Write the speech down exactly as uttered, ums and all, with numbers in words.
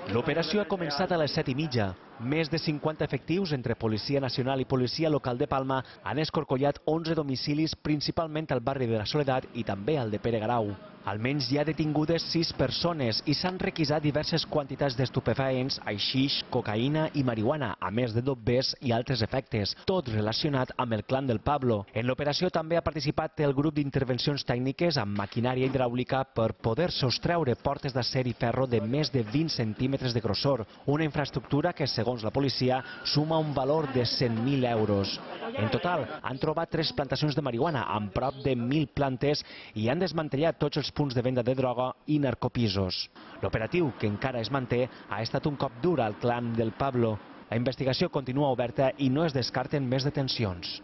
L'operació ha començat a les set i mitja. Més de cinquanta efectius entre Policia Nacional i Policia Local de Palma han escorcollat onze domicilis, principalment al barri de la Soledat i també al de Pere Garau. Almenys hi ha detingudes sis persones i s'han requisat diverses quantitats d'estupefaents, haixix, cocaïna i marihuana, a més de dobbers i altres efectes, tot relacionat amb el clan del Pablo. En l'operació també ha participat el grup d'intervencions tècniques amb maquinària hidràulica per poder sostreure portes d'acer i ferro de més de vint centímetres de grossor, una infraestructura que, segons la policia, suma un valor de cent mil euros. En total, han trobat tres plantacions de marihuana amb prop de mil plantes i han desmantellat tots els punts de venda de droga i narcopisos. L'operatiu, que encara es manté, ha estat un cop dur al clan del Pablo. La investigació continua oberta i no es descarten més detencions.